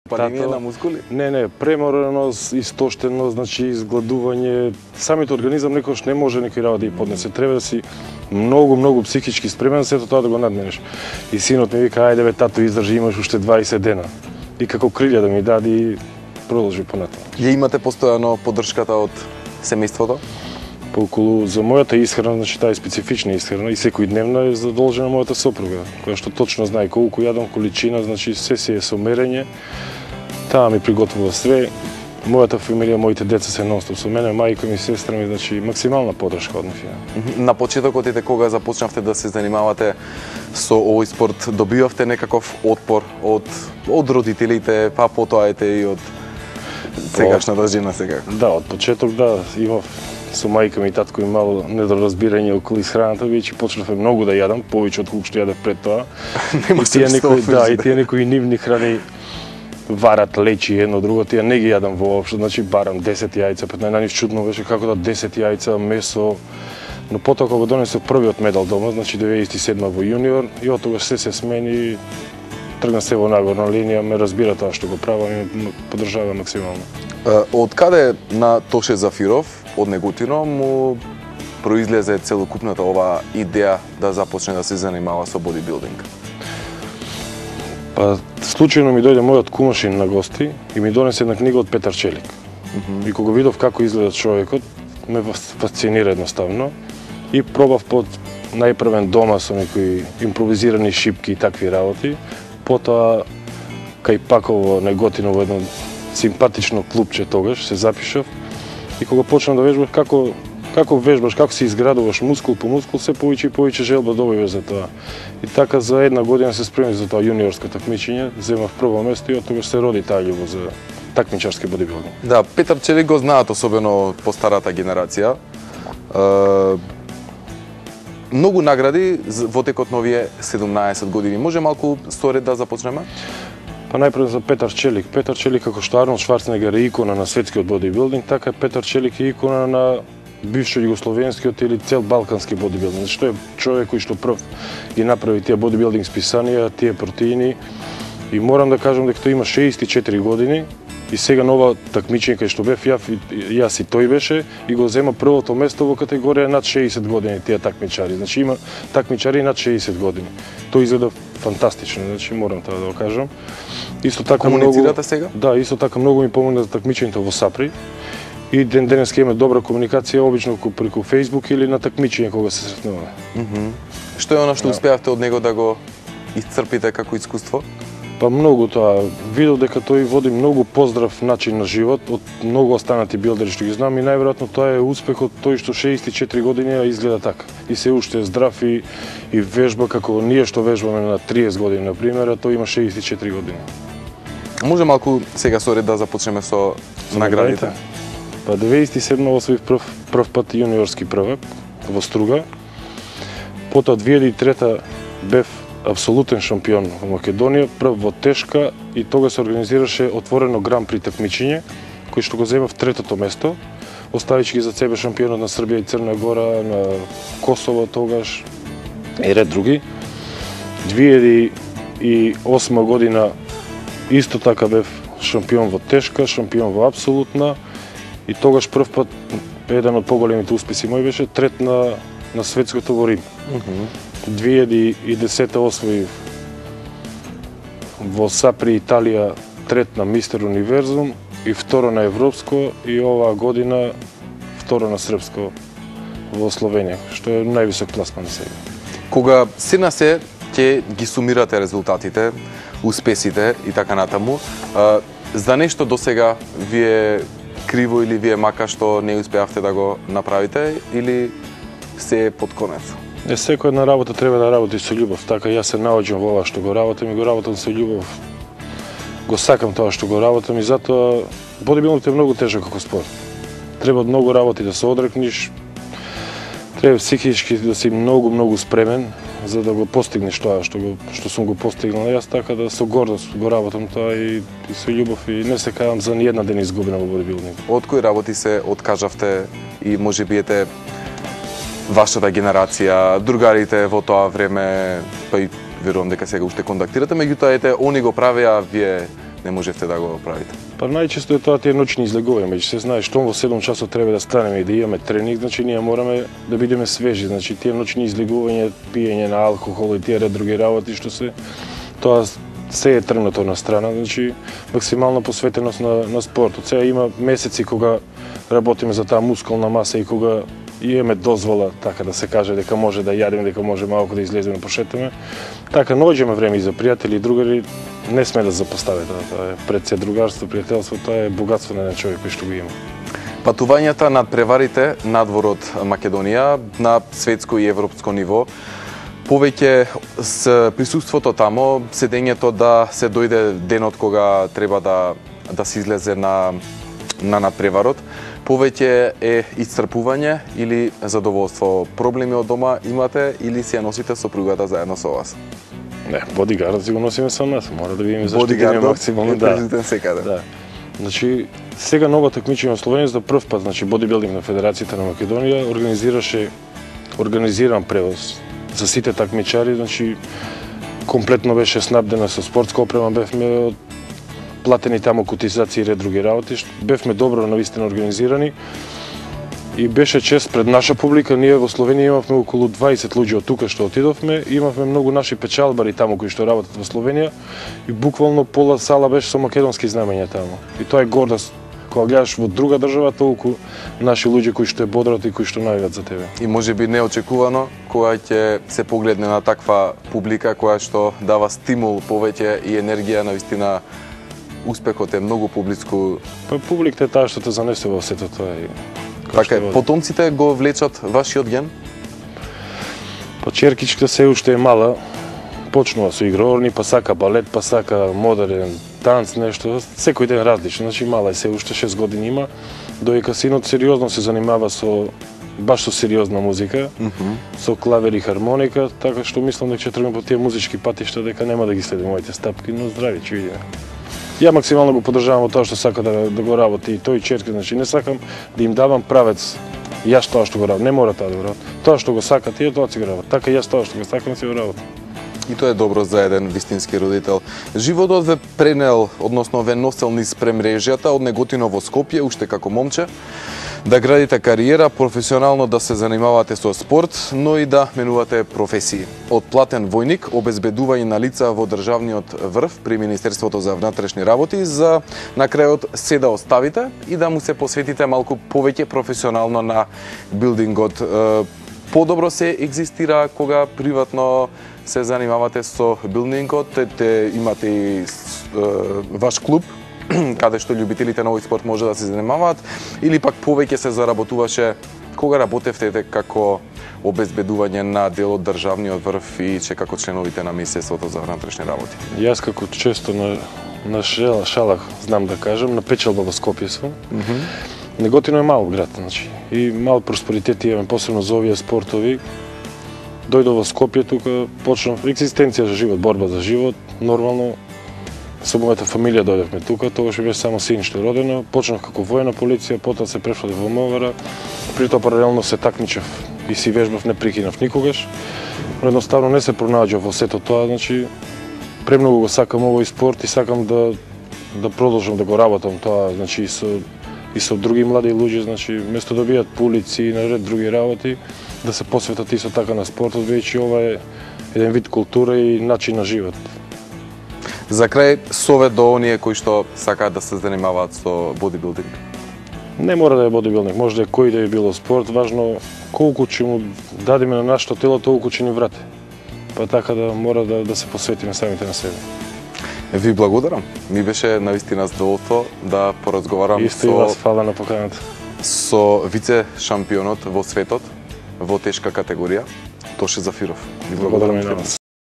Палење на мускули? Не, премореност, истоштеност, значи изгладување. Самиот организам некош не може некој работа да ја поднесе. Треба да си многу психички спремен за сето тоа да го надменеш. И синот ми вика, ајде бе тато, издржи, имаш уште 20 дена. И како крилја да ми даде и продолжи понатаму. Ја имате постојано поддршката од семејството? По околу за мојата исхрана, значи таа е специфична исхрана и секојдневна е задолжена мојата сопруга, која што точно знае колку јадам, количина, значи се си е со мерење. Таа ми приготвува све. Мојата фамилија, моите деца се нонстоп со мене, мајка ми, сестра ми, значи максимална поддршка од нив. На почетокот кога започнавте да се занимавате со овој спорт, добивавте некаков отпор од родителите, па потоа и од сегашната жена сега? Да, од почеток да, имав со мајка ми и татко и мало недоразбирање околу исхраната, веќе почнавме многу да јадам, повеќе од колку што јадев пред тоа. И тие некои нивни храни варат, лечи, едно друго, тие не ги јадам воопшто, значи барам 10 јајца, пет најнив чудно беше како да 10 јајца, месо. Но потоа кога донесов првиот медал дома, значи 97 во јуниор, и од тогаш се смени, тргна се во нагорна линија, ме разбира тоа што го правам и ме поддржава максимално. Од каде на Тоше Зафиров, од Неготино, му произлезе целокупната ова идеја да започне да се занимава со бодибилдинг? Па, случајно ми дојде мојот кумашин на гости и ми донесе една книга од Петар Челик. И кога видов како изгледа човекот, ме фасцинира едноставно и пробав под најпрвен дома со некои импровизирани шипки и такви работи. Потоа кај Паково Неготино во едно симпатично клубче тогаш се запишав и кога почнав да вежбам како вежбаш, како се изградуваш мускул по мускул, се повеќе и повеќе желба добиваш за тоа. И така за една година се спремив за тоа јуниорско такмичење, земав прво место и од тогаш се роди таа љубов за такмичарски бодибилдинг. Да, Петар Челик го знаат, особено по старата генерација. Многу награди во текот на овие 17 години. Може малку сторед да започнеме? Па најпрво за Петар Челик. Петар Челик како што Арнолд Шварценегер е икона на светскиот бодибилдинг, така Петар Челик е икона на бившо југословенскиот или цел балкански бодибилдинг. Што е човек кој што прв ги направи тие бодибилдинг списанија, тие протеини. И морам да кажам дека тој има 64 години и сега нова такмичење кај што бев јас и тој беше и го зема првото место во категорија над 60 години тие такмичари. Значи има такмичари над 60 години. Тој изгледа фантастично, значи морам тоа да го кажам. Исто така комуницирате сега? Да, исто така многу ми помогна за такмичењето во Сапри. И денеска имаме добра комуникација, обично преку Facebook или на такмичење кога се сретнуваме. Што е она што успеавте од него да го исцрпите како искуство? Па многу тоа. Видов дека тој води многу поздрав начин на живот од многу останати билдери што ги знам и најверојатно тоа е успехот тој што 64 години изгледа така. И се уште е здрав и вежба како ние што вежбаме на 30 години, например, а тој има 64 години. Може малку сега со ред да започнеме со наградите? Па 97 освоив прв пат јуниорски првак во Струга. Потоа 2003 бев апсолутен шампион во Македонија, прв во тешка и тога се организираше отворено гран при такмичење, кој што го земав третото место, оставички за себе шампионот на Србија и Црна Гора, на Косово тогаш и ред други. 2008 година исто така бев шампион во тешка, шампион во апсолутна и тогаш прв пат еден од поголемите успеси мој беше трет на светското во Рим. 2010 освоив во Сапри, Италија, трет на Мистер Универзум и второ на европско и оваа година второ на српско во Словенија, што е највисок пласман сега. Кога се на се ќе ги сумирате резултатите, успесите и така натаму, за нешто досега вие криво или вие мака што не успеавте да го направите или се е под конец? Секоја една работа треба да работи со љубов, така јас се наоѓам во ова што го работам и го работам со љубов. Го сакам тоа што го работам и затоа бодибилдингот е многу тежок како спорт. Треба многу работи да се одрекниш, треба психички да си многу спремен за да го постигнеш тоа што сум го постигнал јас, така да со гордост го работам тоа и со љубов и не се кајам за ни една ден изгубена во бодибилдинг. Од кои работи се откажавте и може би вашата генерација, другарите во тоа време, па и верувам дека сега уште контактирате, меѓутоа они го правеа, вие не можевте да го правите? Па најчесто е тоа тие ноќни излегувања, меѓу се знае што во 7 часот треба да станеме и да имаме тренинг, значи ние мораме да бидеме свежи, значи тие ноќни излегувања, пиење на алкохол и тие ред други работи што се тоа се е тргнато на страна, значи максимална посветеност на спортот. Сега има месеци кога работиме за таа мускулна маса и кога имаме дозвола, така да се каже, дека може да јадеме, дека може малку да излеземе, пошетаме. Така, наоѓаме време и за пријатели и другари, не сме да запостави тоа е пред се другарство, пријателство, тоа е богатство на еден човек кој што го има. Патувањата над преварите надвор од Македонија на светско и европско ниво, повеќе с присуството тамо, седењето да се дојде денот кога треба да се излезе на надпреварот, повеќе е исцрпување или задоволство? Проблеми од дома имате или си ја носите сопругата заедно со вас? Не, бодигардот си го носиме со нас, мора да видиме заштитиме максимално. Да, секаде. Да. Значи, сега нова такмичење во Словенија за прв пат, значи бодибилдинг на Федерацијата на Македонија организиран превоз за сите такмичари, значи комплетно беше снабдена со спортска опрема, бевме платени таму котизации и ред други работи, бевме добро навистина организирани и беше чест пред наша публика. Ние во Словенија имавме околу 20 луѓе од тука што отидовме, имавме многу наши печалбари таму кои што работат во Словенија и буквално пола сала беше со македонски знамења таму. И тоа е гордост. Кога гледаш во друга држава, толку наши луѓе кои што е бодрат и кои што навиват за тебе. И можеби неочекувано, кога ќе се погледне на таква публика која што дава стимул повеќе и енергија, навистина успехот е многу публичку. Па публиката е таа што те занесе во сето тоа и така е, потомците го влечат вашиот ген? Па черкичката се уште е мала, почнува со игроорни, па сака балет, па сака модерен танц, нешто, секој ден различно, значи мала е се уште 6 години има, доека синот сериозно се занимава баш со сериозна музика, со клавер и хармоника, така што мислам дека ќе тргнем по тие музички патишта, дека нема да ги следи моите стапки, но здрави, ќе видиме. Ја максимално го поддржавам во тоа што сака да го работи и тој черка, значи не сакам да им давам правец јас тоа што го работам, не мора тоа да го работам. Тоа што го сака тие, тоа си го работам. Така јас тоа што го сакам си го работам. И тоа е добро за еден вистински родител. Животот ве пренел, односно ве носел низ премрежјата од Неготино во Скопје, уште како момче, да градите кариера, професионално да се занимавате со спорт, но и да менувате професии. Од платен војник, обезбедување на лица во државниот врв при Министерството за внатрешни работи, за на крајот се да оставите и да му се посветите малку повеќе професионално на билдингот. Подобро се екзистира кога приватно се занимавате со билдингот, имате и ваш клуб, каде што љубителите на овој спорт може да се занимаваат, или пак повеќе се заработуваше кога работевте како обезбедување на дел од државниот врв и како членовите на Министерството за внатрешни работи? Јас како често на шалах знам да кажам, на печалба во Скопје сум. Неготино е мал град, значи, и мал просперитет имаме, посебно за овие спортови. Дојдов во Скопје, тука почнав екзистенција за живот, борба за живот, нормално. Со мојата фамилија дојдовме тука, тогаш беше само син што родено, почнав како војна полиција, потоа се префрлив во МВР, при тоа паралелно се такмичев и си вежбав, не прикинав никогаш. Но едноставно не се пронаѓав во сето тоа, значи премногу го сакам овој спорт и сакам да продолжам да го работам тоа, значи и со други млади луѓе, значи место да бидат по улици и наред други работи, да се посветат исто така на спортот, веќе ова е еден вид култура и начин на живот. За крај, совет до оние кои што сакаат да се занимаваат со бодибилдинг? Не мора да е бодибилдинг, може да е кој да е било спорт, важно колку ќе му дадеме на нашето тело, толку ќе ни врати. Па така да мора да се посветиме самите на себе. Ви благодарам. Ми беше навистина задоволство да поразговарам Исто и вас, фала на поканата. Со вице шампионот во светот во тешка категорија, Тоше Зафиров. Ви благодарам и на вас.